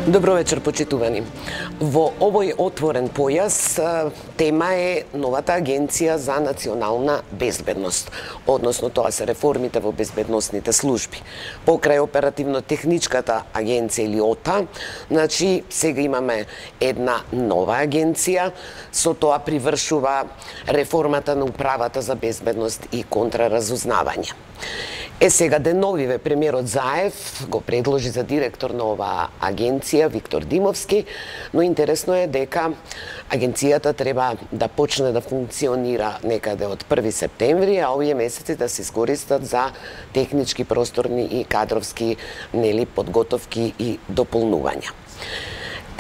Добро вечер, почитувани. Во овој отворен појас тема е новата Агенција за национална безбедност, односно тоа се реформите во безбедносните служби. Покрај оперативно-техничката агенција или ОТА, значи сега имаме една нова агенција, со тоа привршува реформата на управата за безбедност и контраразузнавање. Сега деновиве премиерот Заев го предложи за директор на оваа агенција Виктор Димовски, но интересно е дека агенцијата треба да почне да функционира некаде од 1 септември, а овие месеци да се искористат за технички, просторни и кадровски подготовки и дополнувања.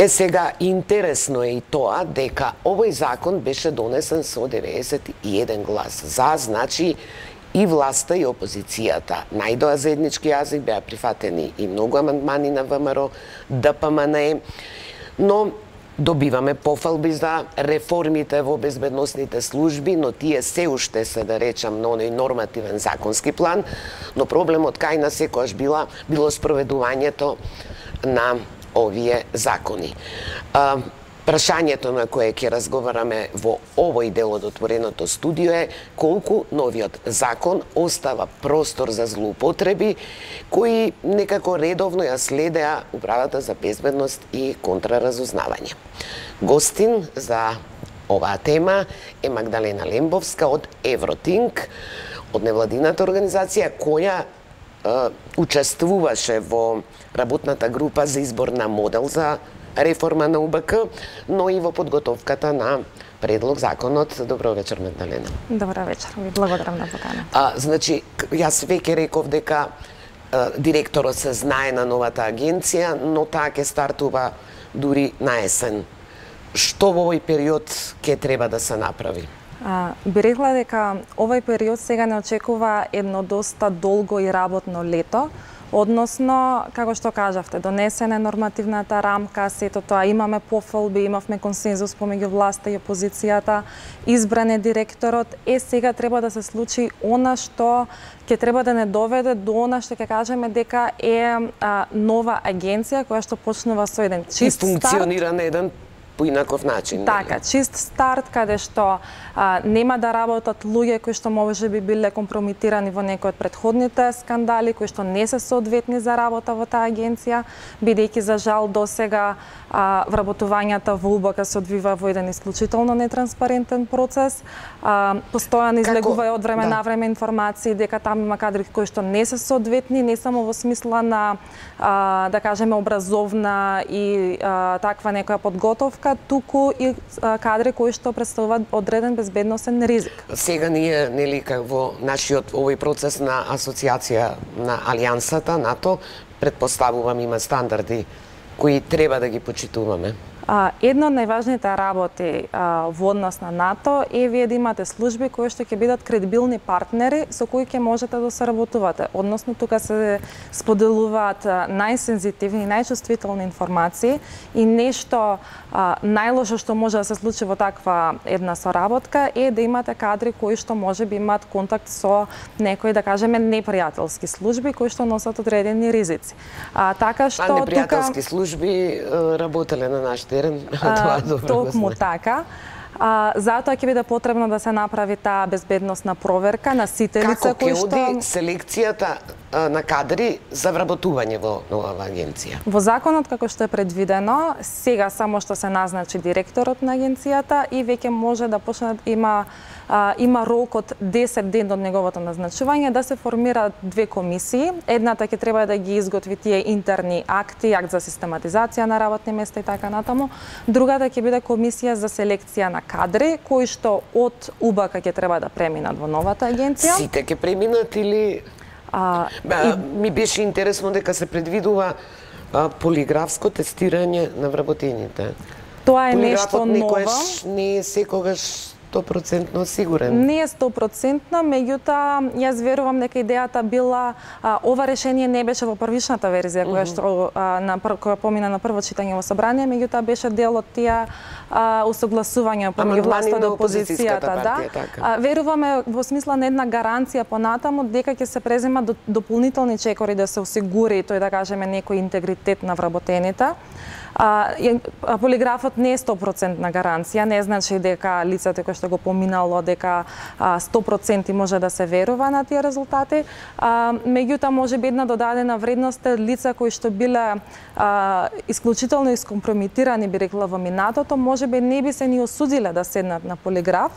Сега интересно е и тоа дека овој закон беше донесен со 91 глас за, значи и власта и опозицијата најдоа заеднички јазик, беа прифатени и многу амандмани на ВМРО, ДПМН, но добиваме пофалби за реформите во безбедносните служби, но тие се уште се, да речам, на оној нормативен законски план, но проблемот кај нас секогаш било спроведувањето на овие закони. Прашањето на кое ќе разговараме во овој дел од отвореното студио е колку новиот закон остава простор за злоупотреби кои некако редовно ја следеа управата за безбедност и контраразузнавање. Гостин за оваа тема е Магдалена Лембовска од Евротинк, од невладината организација која учествуваше во работната група за избор на модел за реформа на УБК, но и во подготовката на предлог законот. Добро вечер, Магдалена. Добро вечер, ви благодарам на покана. Значи, јас веќе реков дека директорот се знае на новата агенција, но таа ќе стартува дури на есен. Што во овој период ќе треба да се направи? Би рекла дека овој период сега не очекува едно доста долго и работно лето, односно, како што кажавте, донесена нормативната рамка, сето тоа имаме пофалби, имавме консензус помеѓу власта и опозицијата, избран е директорот, сега треба да се случи она што ќе треба да не доведе до она што ќе кажеме дека е нова агенција која што почнува со еден чист старт. И функционира на еден поинаков начин. Така, чист старт каде што нема да работат луѓе кои што може би биле компрометирани во некои од претходните скандали, кои што не се соодветни за работа во таа агенција, бидејќи за жал досега вработувањата во УБК се одвива во еден исклучително нетранспарентен процес. Постојано излегува од време на време информации дека таму има кадри кои што не се соодветни, не само во смисла на да кажеме образовна и таква некоја подготовка, туку и кадри кои што представуваат одреден безбедносен ризик. Сега ние, нели, во нашиот овој процес на асоциација на Алијансата, НАТО, предпоставувам има стандарди кои треба да ги почитуваме. Една од најважните работи во однос на НАТО е вие да имате служби кои што ќе бидат кредибилни партнери со кои ќе можете да соработувате. Односно, тука се споделуваат најсензитивни и најчувствителни информации и нешто најлошо што може да се случи во таква една соработка е да имате кадри кои што може би имаат контакт со некои, да кажеме, непријателски служби кои што носат одредени ризици. Така што непријателски служби работеле на наш терен, тоа добро токму така. Затоа ќе биде потребно да се направи таа безбедносна проверка на сите лица кои што... Како ќе оди селекцијата на кадри за вработување во новава агенција? Во законот, како што е предвидено, сега само што се назначи директорот на агенцијата и веќе може да почне има рок од 10 ден од неговото назначување да се формираат две комисии. Едната ќе треба да ги изготви тие интерни акти, акт за систематизација на работни места и така натаму. Другата ќе биде комисија за селекција на кадри кои што од УБК ќе треба да преминат во новата агенција. Сите ќе преминат или ми беше интересно дека се предвидува полиграфско тестирање на вработените. Тоа е нешто ново. Полиграфот некојаш не е секогаш 100% сигурен. Не е 100%, меѓутоа јас верувам дека идејата била ова решение не беше во првичната верзија која што која помина на прво читање во собрание, меѓутоа беше дел од тие усогласувања помеѓу власта и опозицијата, да. Веруваме во смисла на една гаранција понатаму дека ќе се презема дополнителни чекори да се осигури тој да кажеме некој интегритет на вработените. Полиграфот не е 100% гаранција, не значи дека лицето кој што го поминало дека 100% може да се верува на тие резултати, меѓутоа може би една додадена вредност е лица кои што биле исклучително искомпрометирани, би рекла, во минатото, може би не би се ни осудиле да седнат на полиграф,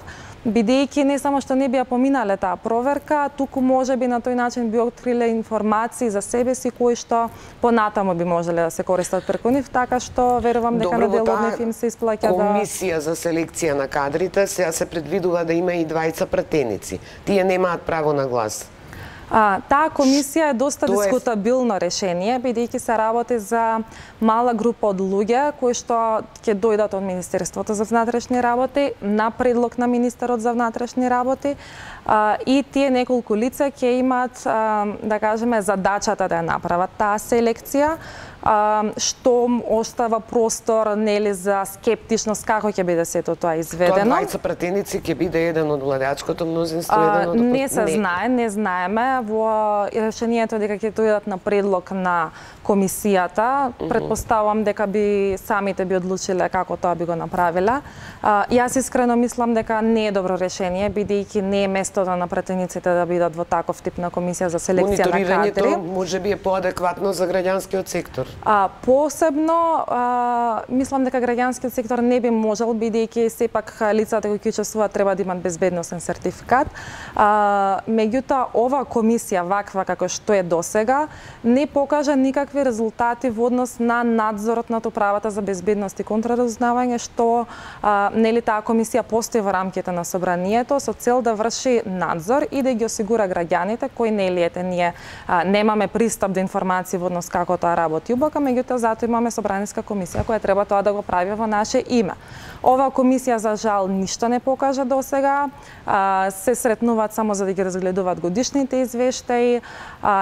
бидејќи не само што не би ја поминале таа проверка, туку може би на тој начин би откриле информации за себе си кои што понатаму би можеле да се користат преку нив, така што верувам дека на дел од нив им се исплаќа да... Комисија за селекција на кадрите сега се предвидува да има и двајца пратеници. Тие немаат право на глас. Таа комисија е доста дискутабилно решение, бидејќи се работи за мала група од луѓе кои што ќе дојдат од Министерството за внатрешни работи на предлог на министерот за внатрешни работи и тие неколку лица ќе имаат, да кажеме, задачата да ја направат таа селекција, што остава простор нели за скептичност како ќе биде сето тоа изведено. Тоа двајца пратеници ќе биде еден од владеачкото мнозинство, еден од не се знае, не знаеме во решението дека ќе дојдат на предлог на комисијата. Предпоставувам дека би самите би одлучиле како тоа би го направиле. Јас искрено мислам дека не е добро решение, бидејќи не е местото на пратениците да бидат во таков тип на комисија за селекција на кадри. Мониторирањето можеби е поадекватно за граѓанскиот сектор. Посебно, мислам дека граѓанскиот сектор не би можел, бидејќи сепак лицата кои ќе учествуваат треба да имат безбедносен сертификат. Меѓутоа, ова комисија, ваква како што е досега, не покажа никакви резултати во однос на надзорот над управата за безбедност и контраразузнавање, што нели таа комисија постои во рамките на собранието со цел да врши надзор и да ги осигура граѓаните кои нели ете ние немаме пристап до информации во однос како тоа работи УБК, меѓутоа затоа имаме собраниска комисија која треба тоа да го прави во наше име. Ова комисија за жал ништо не покажа досега, се сретнуваат само за да ги разгледуваат годишните извештаи,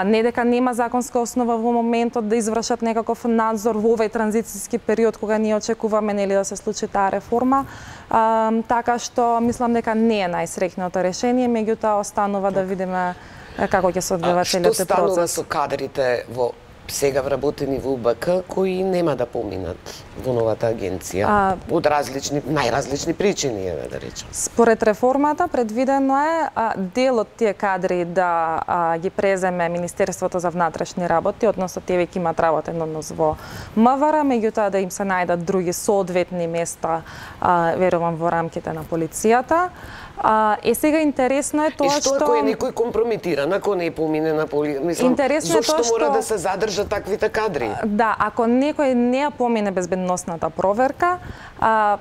не дека нема законска основа во моментот да извршат некаков надзор во овој транзицијски период кога ние очекуваме нели да се случи таа реформа, така што мислам дека не е најсреќното решение, меѓутоа останува да видиме како ќе се одвива целиот процес. Што станува со кадрите во сега вработени во УБК кои нема да поминат во новата агенција од најразлични причини, да речем? Според реформата предвидено е дел од тие кадри да ги преземе Министерството за внатрешни работи, односно тие веќе имаат работен однос во МВР, меѓутоа да им се најдат други соодветни места, верувам во рамките на полицијата. Сега интересно е тоа што... И што ако е некој компрометиран, ако не помине на мислам, зошто мора да се задржат таквите кадри? Да, ако некој не ја помине безбедносната проверка,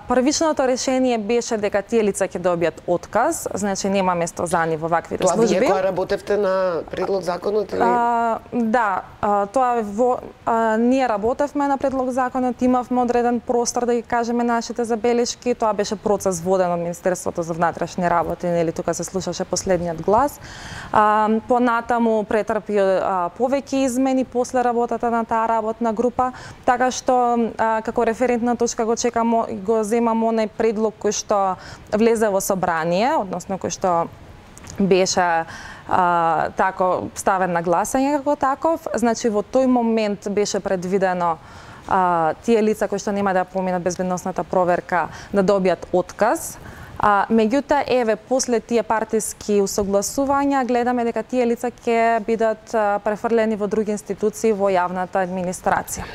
првичното решение беше дека тие лица ќе добијат отказ, значи нема место за нив во ваквите служби. Тоа вие која работевте на предлог законот или? Да, тоа ние работевме на предлог законот, имавме одреден простор да ги кажеме нашите забелешки, тоа беше процес воден од Министерството за внатрешни работи, нели тука се слушаше последниот глас. Понатаму претрпи повеќе измени после работата на таа работна група, така што како референтна точка го земам онај предлог кој што влезе во собрание, односно кој што беше тако ставен на гласање како таков. Значи во тој момент беше предвидено тие лица кои што нема да поминат безбедносната проверка да добијат отказ. Меѓутоа, еве, после тие партиски усогласувања, гледаме дека тие лица ќе бидат префрлени во други институции во јавната администрација.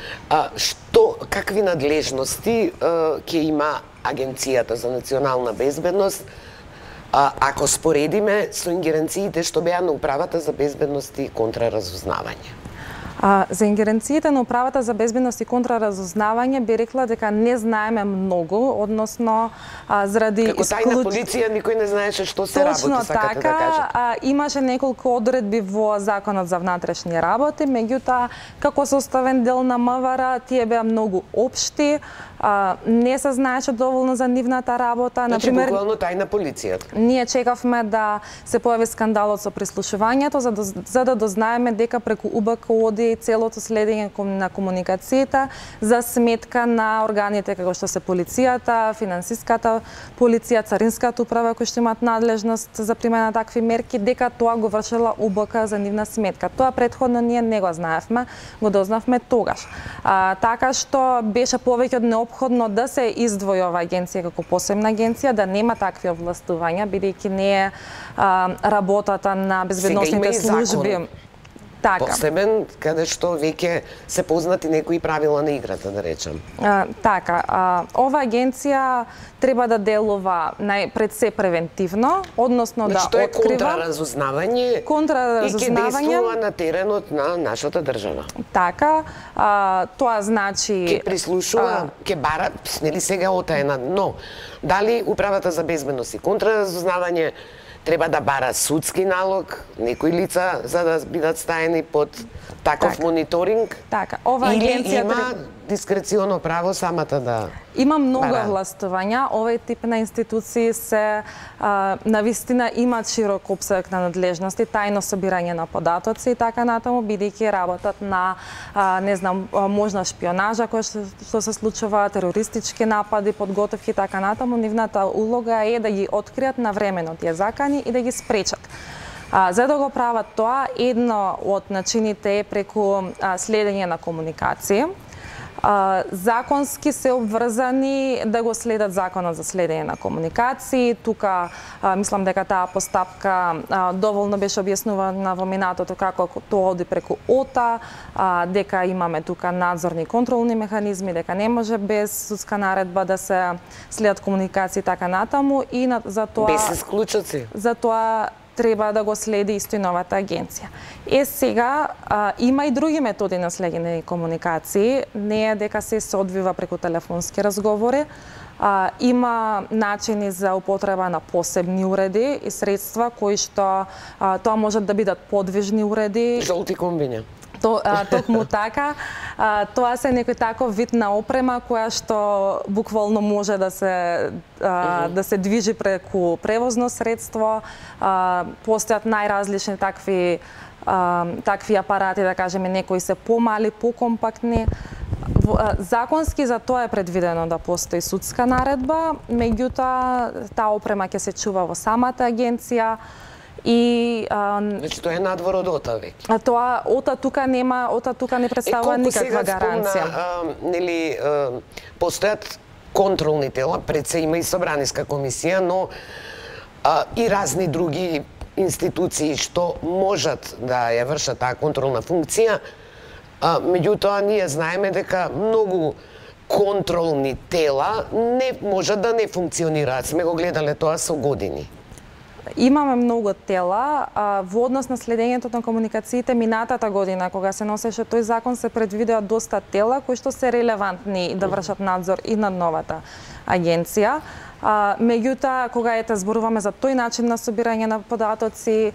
Какви надлежности ќе има Агенцијата за национална безбедност, ако споредиме со ингеренциите што беа на Управата за безбедност и контраразузнавање? За ингеренциите на Управата за безбедност и контраразузнавање би рекла дека не знаеме многу, односно заради како тајна полиција никој не знаеше што се работи, сакате да кажете. Имаше неколку одредби во Законот за внатрешни работи, меѓутоа како составен дел на МВР тие беа многу општи, не се знаеше доволно за нивната работа. Значи, буквално тајна полиција. Ние чекавме да се појави скандалот со прислушувањето, за да дознаеме дека преку УБК оди целото следење на комуникацијата за сметка на органите како што се полицијата, финансиската полиција, царинската управа кои што имаат надлежност за примена на такви мерки, дека тоа го вршела УБК за нивна сметка. Тоа претходно ние не го знаевме, го дознавме тогаш. Така што беше повеќе од неопходно да се издвои ова агенција како посебна агенција, да нема такви овластувања, бидејќи не е работата на безбедносните служби. Така. Посебен, каде што веќе се познати некои правила на играта, да речем. Така, ова агенција треба да делува пред се превентивно, односно да открива... Тоа е контраразузнавање и ќе действува на теренот на нашата држава. Така, тоа значи... Ќе прислушува, ќе бара, нели сега отаена, но дали Управата за безбедност и контраразузнавање треба да бара судски налог, некои лица за да бидат стаени под таков мониторинг? Така, ова агенција или има дискреционо право самата да има многу овластувања. Овој тип на институции се навистина имаат широк опсег на надлежности, тајно собирање на податоци и така натаму, бидејќи работат на можна шпионажа која што се случува, терористички напади, подготовки и така натаму. Нивната улога е да ги откријат навремено тие закани и да ги спречат. За да го прават тоа, едно од начините е преку следење на комуникација. Законски се обврзани да го следат Законот за следење на комуникации. Тука мислам дека таа постапка доволно беше објаснувана во минатото како тоа оди преку ОТА, дека имаме тука надзорни и контролни механизми, дека не може без судска наредба да се следат комуникации така натаму и за тоа без исклучоци. За тоа треба да го следи исто и новата агенција. Сега има и други методи на следење на комуникации, не е дека се одвива преку телефонски разговори, има начини за употреба на посебни уреди и средства кои што тоа можат да бидат подвижни уреди. Жолти комбиња. Токму така, тоа се некој таков вид на опрема која што буквално може да се движи преку превозно средство. Постојат најразлични такви апарати, да кажеме, некои се помали, покомпактни. Законски за тоа е предвидено да постои судска наредба, меѓутоа таа опрема ќе се чува во самата агенција. Значи тоа е надвор од ОТА веќе. ОТА тука не представува никаква гаранција. Нели постојат контролни тела, пред се има и Собраниска комисија, но и разни други институции што можат да ја вршат таа контролна функција. Меѓутоа ние знаеме дека многу контролни тела не можат да не функционираат. Сме го гледале тоа со години. Имаме многу тела. Во однос на следењето на комуникациите минатата година, кога се носеше тој закон, се предвидеа доста тела кои што се релевантни да вршат надзор и над новата агенција. Меѓутоа, кога зборуваме за тој начин на собирање на податоци,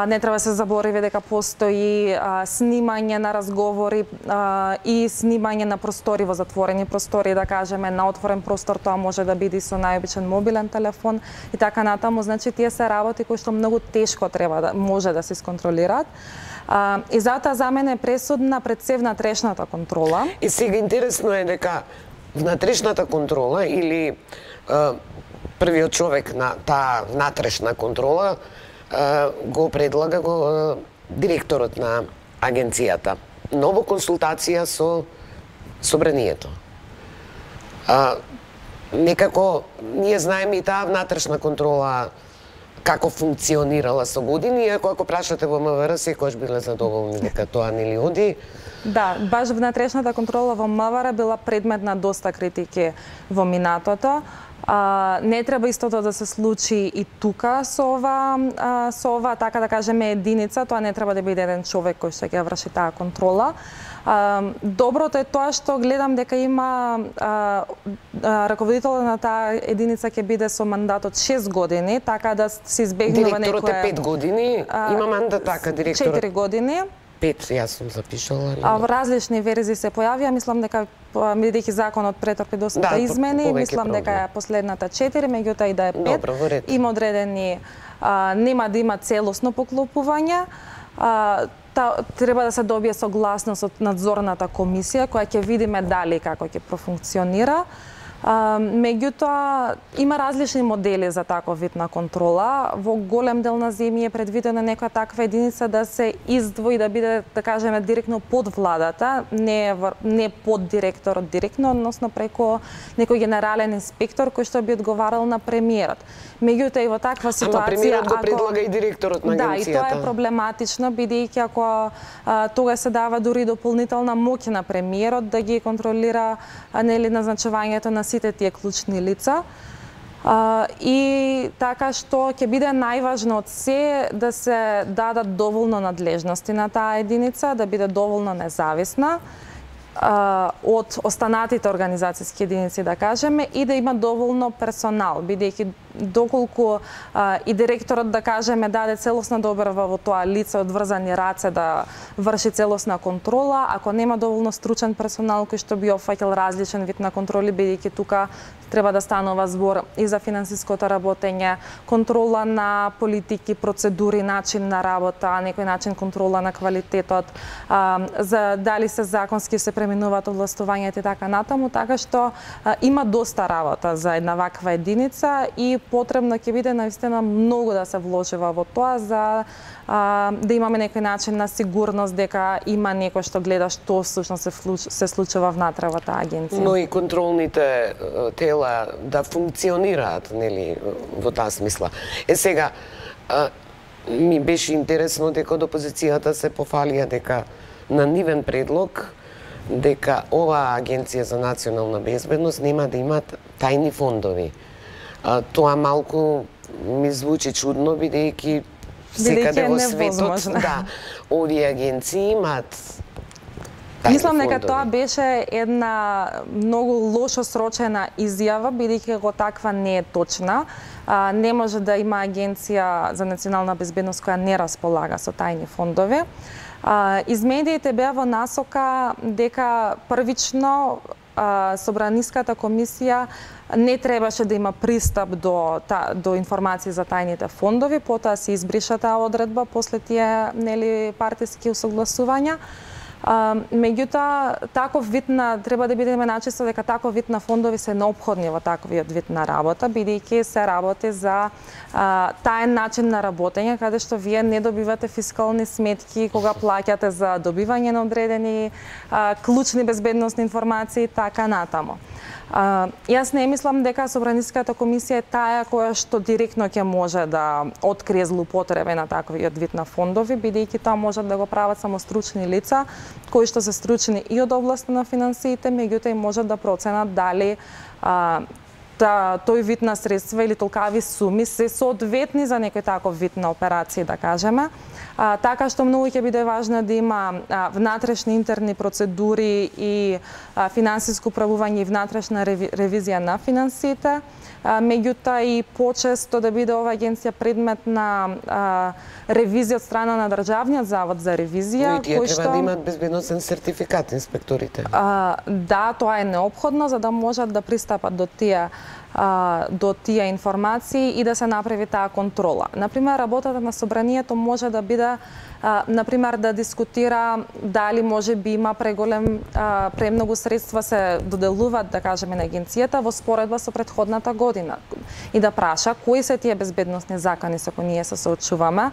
не треба се заборави дека постои снимање на разговори и снимање на простори во затворени простори, да кажеме, на отворен простор тоа може да биде со најобичен мобилен телефон и така натаму. Значи, тие се работи кои што многу тешко може да се исконтролираат. И затоа за мене е пресудна пред се внатрешната контрола. И сега интересно е дека внатрешната контрола или првиот човек на таа внатрешна контрола го предлага директорот на агенцијата, но во консултација со собранието. Некако ние знаеме и таа внатрешна контрола како функционирала со години, иако ако прашате во МВР секогаш биле задоволни дека тоа нели оди. Да, баш внатрешната контрола во МВР била предмет на доста критики во минатото. Не треба истото да се случи и тука со ова, така да кажеме, единица. Тоа не треба да биде еден човек кој што ќе врши таа контрола. Доброто е тоа што гледам дека има раководителот на таа единица ќе биде со мандат од 6 години, така да се избегнува некоја... Директорот е 5 години, има мандат така, директорот... 4 години. 5, јас сум запишала. Во различни верзии се појавија, мислам дека бидејќи законот претрпи доста измени, мислам дека е последната 4, меѓутоа и да е 5. Добро, има одредени, нема да има целосно поклопување. Треба да се добие согласност од надзорната комисија, која ќе видиме дали како ќе профункционира. Меѓутоа, има различни модели за таков вид на контрола. Во голем дел на земји е предвидена некоја таква единица да се издвои, да биде, да кажеме, директно под владата, не под директорот директно, односно преку некој генерален инспектор кој што би одговарал на премиерот. Меѓутоа и во таква ситуација... Ама премиерот го предлага и директорот на агенцијата. Да, и тоа е проблематично, бидејќи ако тога се дава дури дополнителна моќ на премиерот да ги контролира нели назначувањето на сите тие клучни лица. И така што ќе биде најважно од се да се дадат доволно надлежности на таа единица, да биде доволно независна од останатите организацијски единици, да кажеме, и да има доволно персонал, бидејќи доколку и директорот, да кажеме, даде целосна доверба во тоа лице од врзани раце да врши целосна контрола, ако нема доволно стручен персонал кој што би опфаќал различен вид на контроли, бидејќи тука треба да станува збор и за финансиското работење, контрола на политики, процедури, начин на работа, некој начин контрола на квалитетот, за дали се законски се преминуваат овластувањата и така натаму, така што има доста работа за една ваква единица и потребно ќе биде наистина многу да се вложува во тоа за да имаме некој начин на сигурност дека има некој што гледа што всушност се случува внатре во таа агенција. Но и контролните тела да функционираат, нели, во таа смисла. Сега, ми беше интересно дека од опозицијата се пофалија дека на нивен предлог дека оваа агенција за национална безбедност нема да имат тајни фондови. Тоа малку ми звучи чудно, бидејќи секаде во светот, да, овие агенции имаат тајни Мислам дека фондови. тоа беше една многу лошо срочена изјава, бидејќи го таква не е точна. Не може да има агенција за национална безбедност која не располага со тајни фондови. Из медиите беа во насока дека првично Собраниската комисија не требаше да има пристап до информации за тајните фондови, потоа се избриша таа одредба после тие нели партиски усогласувања. Меѓутоа, таков вид на треба да бидеме начисто дека таков вид на фондови се неопходни во таквиот вид на работа, бидејќи се работи за таен начин на работење, каде што вие не добивате фискални сметки кога плаќате за добивање на одредени клучни безбедносни информации и така натаму. Јас не мислам дека Собраниската комисија е таа која што директно ќе може да открие злоупотреби на таквиот вид на фондови, бидејќи тоа можат да го прават само стручни лица, кои што се стручни и од областа на финансиите, меѓутоа и можат да проценат дали тој вид на средства или толкави суми се соодветни за некој таков вид на операции, да кажеме. Така што многу ќе биде важно да има внатрешни интерни процедури и финансиско управување и внатрешна ревизија на финансиите, меѓутоа и почесто да биде оваа агенција предмет на ревизија од страна на Државниот завод за ревизија. Но и тие треба да имаат безбедносен сертификат инспекторите. Да, тоа е неопходно за да можат да пристапат до тие информации и да се направи таа контрола. Например, работата на собранието може да биде например да дискутира дали може би има премногу средства се доделуваат, да кажеме, на агенцијата во споредба со претходната година и да праша кои се тие безбедносни закони со кои ние се соочуваме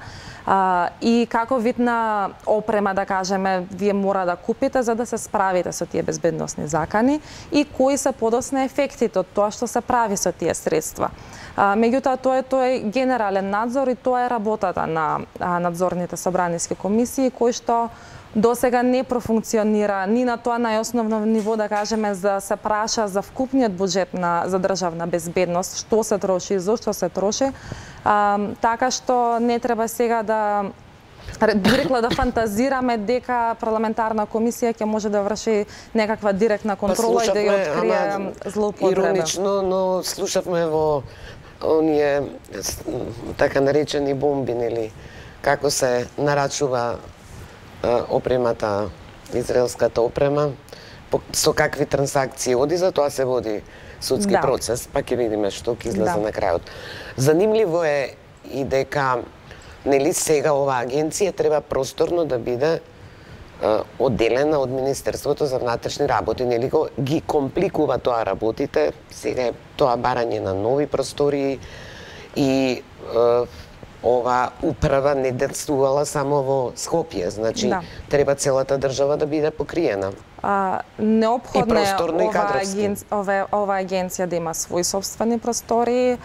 и како вид на опрема, да кажеме, вие мора да купите за да се справите со тие безбедносни закони и кои се подосна ефектите од тоа што се прави прави со тие средства. Меѓутоа, тоа е генерален надзор и тоа е работата на надзорните собраниски комисии, кои што до сега не профункционира ни на тоа најосновно ниво, да кажеме, за се праша за вкупниот буџет за државна безбедност, што се троши и зошто се троши, така што не треба сега да директно да фантазираме дека парламентарна комисија ќе може да врши некаква директна контрола и да ја открие злоупотреба. Иронично, но слушавме во оние така наречени бомби, нели, како се нарачува опремата, израелската опрема, со какви трансакции оди, за тоа се води судски процес, па ќе видиме што ќе излезе на крајот. Занимливо е и дека нели сега оваа агенција треба просторно да биде одделена од Министерството за внатрешни работи, нели ги компликува тоа работите, сега е тоа барање на нови простории и ова управа не действувала само во Скопје, значи треба целата држава да биде покриена. Неопходно е ова агенција да има своји собствени простори.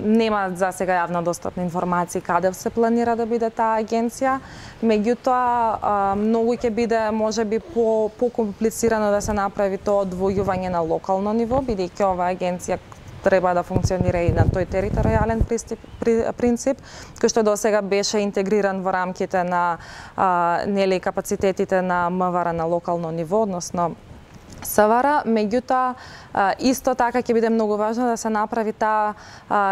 Нема за сега јавно достапни информации каде се планира да биде таа агенција. Меѓутоа, многу ќе биде можеби по-комплицирано да се направи тоа одвојување на локално ниво, бидејќи оваа агенција треба да функционира и на тој територијален принцип, кој што до сега беше интегриран во рамките на нели капацитетите на МВР на локално ниво, односно СВР. Меѓутоа, исто така ќе биде многу важно да се направи таа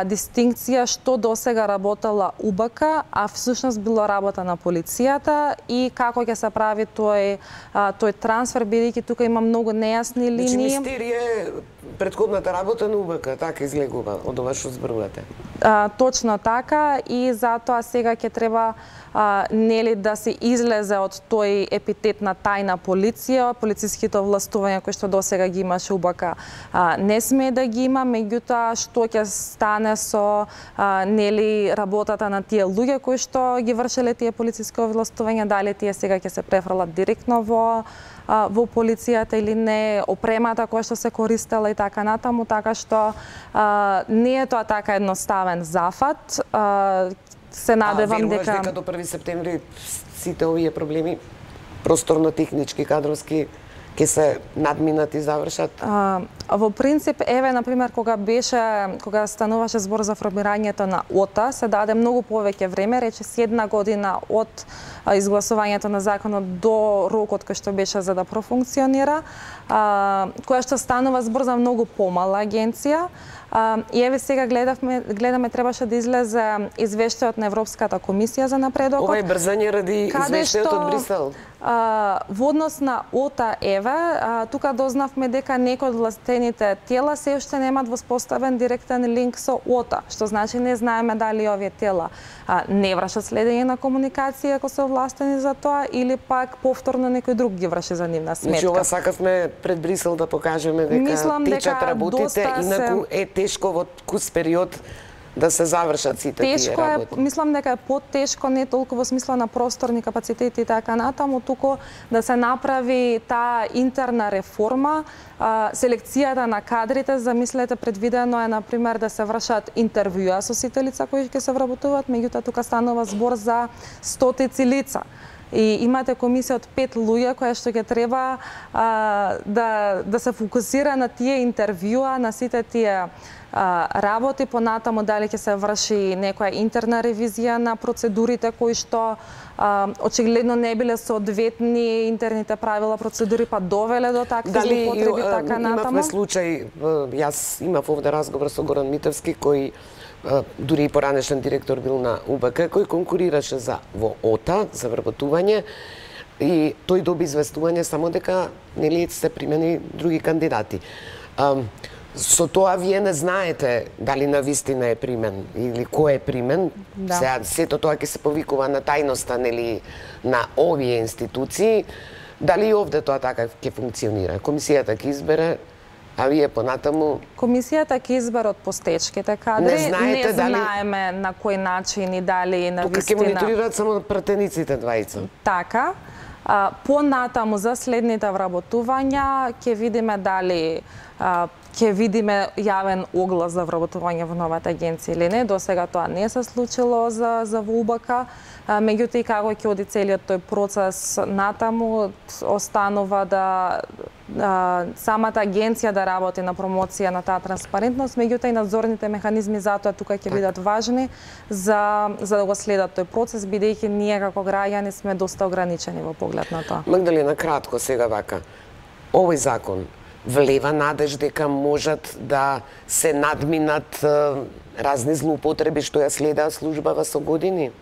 дистинкција што до сега работела УБК, а всушност било работа на полицијата и како ќе се прави тој трансфер, бидејќи тука има многу нејасни линии. Значи мистерија е претходната работа на УБК, така излегува од ова што зборувате. Точно така, и затоа сега ќе треба нели да се излезе од тој епитет на тајна полиција, полициските овластувања кои што досега ги имаше УБК не смее да ги има, меѓутоа што ќе стане со нели работата на тие луѓе кои што ги вршеле тие полициски овластувања, дали тие сега ќе се префрлат директно во полицијата или не, опремата која што се користела и така натаму, така што не е тоа така едноставен зафат. Се надевам дека до 1 септември сите овие проблеми просторно технички, кадровски ќе се надминат и завршат? Во принцип, еве, например, кога стануваше збор за формирањето на ОТА, се даде многу повеќе време, речиси 1 година од изгласувањето на законот до рокот кој што беше за да профункционира, која што станува збор за многу помала агенција. И еве сега гледаме требаше да излезе извештајот на Европската комисија за напредокот. Ова е брзање ради извештајот од Брисел. Во однос на ОТА, еве, тука дознавме дека некои од властените тела се уште немаат воспоставен директен линк со ОТА, што значи не знаеме дали овие тела не вршат следење на комуникација ако се овластени за тоа, или пак повторно некој друг ги врши за нивна сметка. Значи ова сакавме пред Брисел да покажеме дека течат работите, инаку е тешко во кус период да се завршат сите тие работи. Тешко е, мислам дека е потешко, не толку во смисла на просторни капацитети и така натаму, туку да се направи таа интерна реформа, селекцијата на кадрите. Замислете, предвидено е, например, да се вршат интервјуа со сите лица кои ќе се вработуваат, меѓутоа тука станува збор за стотици лица. И имате комисија од 5 луѓе која што ќе треба да се фокусира на тие интервјуа, на сите тие работи, понатаму дали ќе се врши некоја интерна ревизија на процедурите кои што очигледно не биле соодветни, интерните правила, процедури па довеле до такви злоупотреби, така натаму. Имавме случај, јас имав овде разговор со Горан Митевски, кој дури и поранешен директор бил на УБК, кој конкурираше во ОТА за вработување, и тој доби известување само дека нели се примени други кандидати. Со тоа вие не знаете дали навистина е примен или кој е примен. Сега сето тоа ќе се повикува на тајноста, нели, на овие институции. Дали и овде тоа така ќе функционира? Комисијата ќе избере, а вие понатаму... Комисијата ќе избере од постечките кадри. Не знаеме на кој начин и дали навистина... Тука ќе мониторираат само пратениците двајца. Така. Понатаму за следните вработувања ќе видиме дали ќе видиме јавен оглас за вработување во новата агенција или не. До сега тоа не се случило за ВУБК. Меѓутоа, како ќе оди целиот тој процес натаму, останува да самата агенција да работи на промоција на таа транспарентност, меѓутоа и надзорните механизми за тоа тука ќе бидат важни за да го следат тој процес, бидејќи ние како граѓани сме доста ограничени во поглед на тоа. Магдалена, кратко сега вака. Овој закон влева надеж дека можат да се надминат разни злоупотреби што ја следаа службава со години?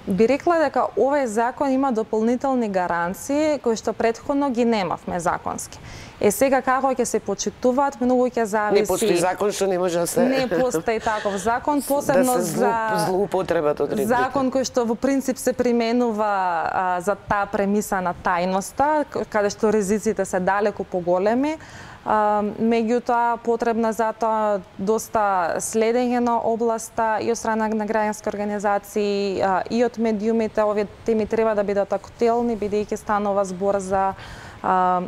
Би рекла дека овој закон има дополнителни гаранции кои што претходно ги немавме законски. Сега како ќе се почитуваат, многу ќе зависи. Не постои закон што не може да се... Не постои таков закон, посебно да се злоупотребат одредбите. Закон кој што во принцип се применува за таа премиса на тајноста, каде што ризиците се далеку поголеми. Меѓутоа потребна за тоа доста следење на областа и од страна на граѓански организации и од медиумите. Овие теми треба да бидат актуелни, бидејќи станува збор за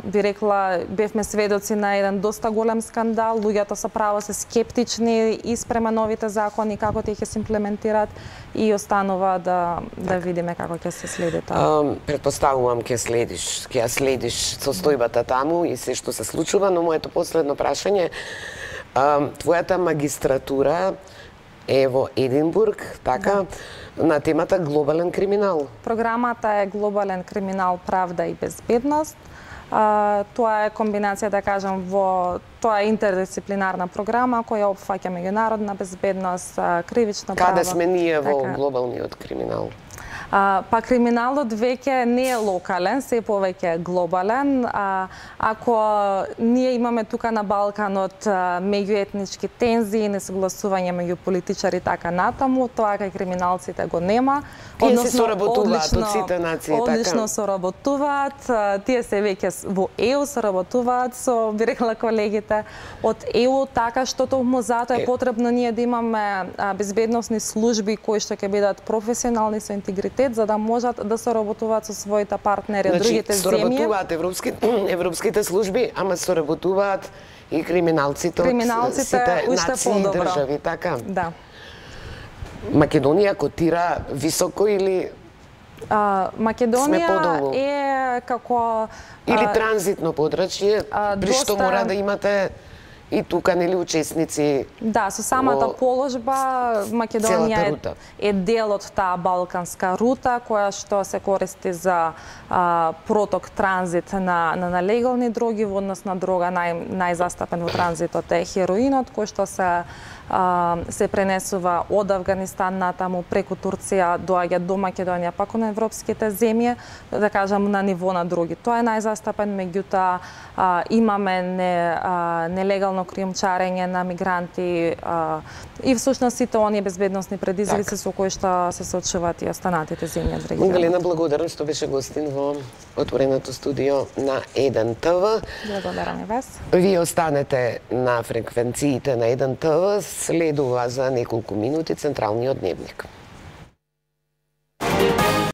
би рекла, бевме сведоци на еден доста голем скандал, луѓето со право се скептични и спрема новите закони, како тие ќе се имплементираат и останува да видиме како ќе се следи тоа. Претпоставувам ќе ја следиш состојбата таму и се што се случува, но моето последно прашање, твојата магистратура е во Единбург, така, на темата глобален криминал. Програмата е глобален криминал, правда и безбедност. Тоа е комбинација, да кажам, тоа е интердисциплинарна програма која опфаќа меѓународна безбедност, кривично право. Каде сме ние во глобалниот криминал? Па криминалот веќе не е локален, се повеќе е глобален. Ако ние имаме тука на Балканот меѓуетнички тензии, несогласување меѓу политичари така натаму, тоа кај криминалците го нема. Тие се соработуваат од сите нации, така? Одлично соработуваат. Тие се веќе во ЕУ соработуваат со, би рекла колегите, од ЕУ, така што токму затоа е потребно ние да имаме безбедносни служби кои што ќе бидат професионални со интегритет, за да можат да соработуваат со своите партнери од другите земји. Соработуваат европските служби, ама соработуваат и криминалците од сите нации и држави, така? Да. Македонија котира високо или Македонија е како или транзитно подрачје, при што мора да имате и тука нели учесници. Да, со самата положба Македонија е дел од таа балканска рута која што се користи за проток транзит на легални дроги, во однос на дрога најзастапен во транзитот е хероинот кој што се пренесува од Авганистан натаму преку Турција, доаѓа до Македонија, пак на европските земји, да кажам на ниво на други. Тоа е најзастапен, меѓутоа имаме нелегално кријумчарење на мигранти и всушност сите оние безбедносни предизвици со кои што се соочуваат и останатите земји од регионот. Магдалена, благодарам што беше гостин во отвореното студио на 1 ТВ. Благодарам и вас. Вие останете на фреквенциите на 1 ТВ, следува за неколку минути Централниот дневник.